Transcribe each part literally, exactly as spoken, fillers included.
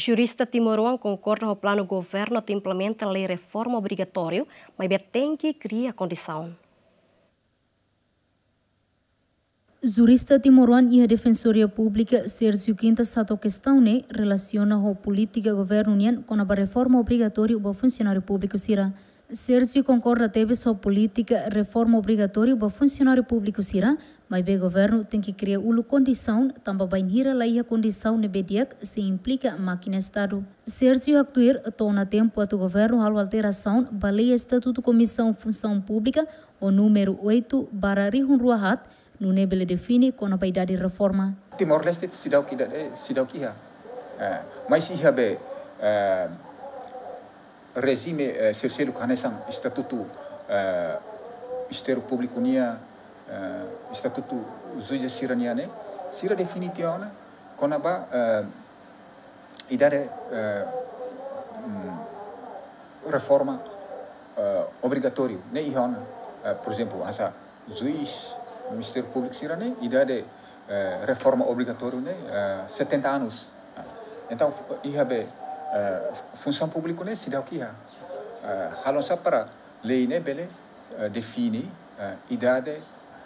Jurista timoroan konkorda ho planu governu atu implementa lei reforma obrigatóriu, maibé tenke kria kondisaun. Jurista timoroan iha Defensoria Públika, Sérgio Quintas, hato'o kestaun ne'e relasiona ho polítika governu nian kona-ba reforma obrigatóriu ba funsionáriu públiku sira. Sérgio konkorda tebes ho polítika reforma obrigatóriu ba funsionáriu públiku sira, maibé governu tenke kria uluk kondisaun, tanba bainhira la iha kondisaun ne'ebé di'ak sei implika mákina Estadu. Sérgio haktuir to'o ona tempu atu governu halo alterasaun ba lei estatutu Komisaun Funsaun Públika ho númeru oitu barra rihun rua haat, nune'e bele define kona-ba idade reforma. Timor-Leste seidauk idade, seidauk iha. Eh, mais iha be, eh, rejime, eh, selu-seluk hanesan estatutu, eh, Ministériu Públiku nian, eh, estatutu juízes sira-nian ne'e, sira define tiha ona kona-ba, eh, idade, eh, mm, reforma, eh, obrigatóriu ne'e iha ona. Eh, por ezemplu, hanesan juís, Ministériu Públiku sira-ne'e, idade, eh, reforma obrigatóriu ne'e, eh, setenta anos. Entaun, fu-, iha be, eh, funsaun públiku ne'e seidauk iha. Eh, halo oinsá para lei ne'e bele, eh, define, eh, idade,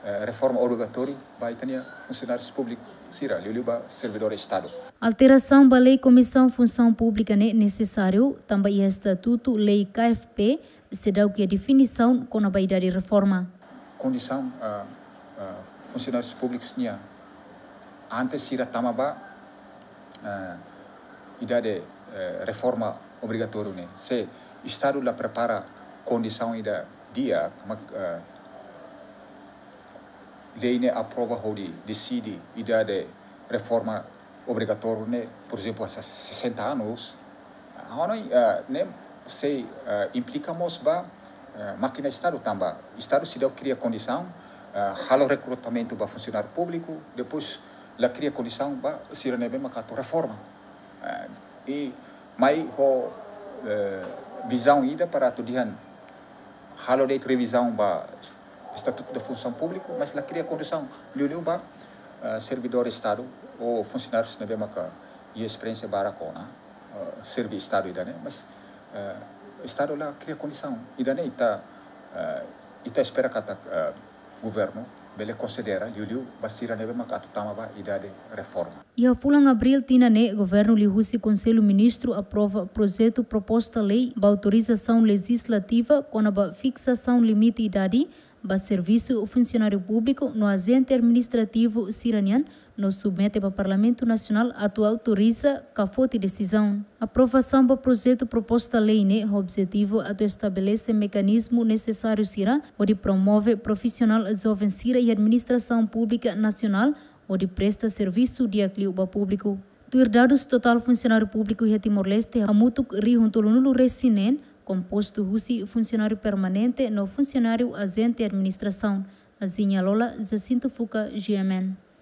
eh, reforma obrigatóriu ba ita-nia funsionáriu públiku sira, liuliu ba servidór Estadu. Alterasaun ba lei Komisaun Funsaun Públika ne'e nesesáriu, tanba iha estatutu lei K F P seidauk iha definisaun kona-ba idade reforma. Kondisaun, ah, ah, funsionáriu públiku nian antes sira tama ba, ah, idade, eh, reforma obrigatóriu ne'e. Se Estadu la prepara kondisaun ida di'ak, mak, eh, lei ne'e aprova hodi deside idade reforma obrigatóriu ne'e, por ezemplu, hanesan sessenta anos, ha'u hanoin, eh, ne'e sei, eh, implika mós ba, eh, mákina Estadu tanba Estadu seidauk kria kondisaun, eh, halo rekrutamentu ba funsionáriu públiku, depois la kria kondisaun ba sira ne'ebé mak atu reforma. Eh, i mai ho, eh, vizaun ida para atu dehan halo de'it revizaun ba est-, Estatutu da Funsaun Públika, mas la kria kondisaun liuliu ba, eh, servidór Estadu ou funsionárius ne'ebé maka iha esperiénsia barak ona, eh, serve Estadu ida-ne'e, mas, eh, Estadu la kria kondisaun. Ida-ne'e ita, eh, ita espera katak, eh, governu bele konsidera liuliu ba sira ne'ebé maka atu tama ba idade reforma. Iha fulan Abríl tinan ne'e, governu liuhusi Konsellu Ministru aprova projetu proposta lei ba autorizasaun lejizlativa kona-ba fiksasaun limite idade ba servisu funsionáriu públiku no ajente administrativu sira-nian, no submete ba Parlamentu Nasionál atu autoriza ka foti desizaun. Aprovasaun ba projetu proposta lei ne'e ho objetivu atu estabelese mekanizmu nesesáriu sira hodi promove profisionál joven sira iha administrasaun públika nasionál hodi presta servisu di'ak liu ba públiku. Tuir dadus, totál funsionáriu públiku iha Timor-Leste hamutuk rihun tolunulu-resin-neen, kompostu husi funsionáriu permanente no funsionáriu ajente administrasaun. Aziña Lola, Jacinto Fuca, G M N.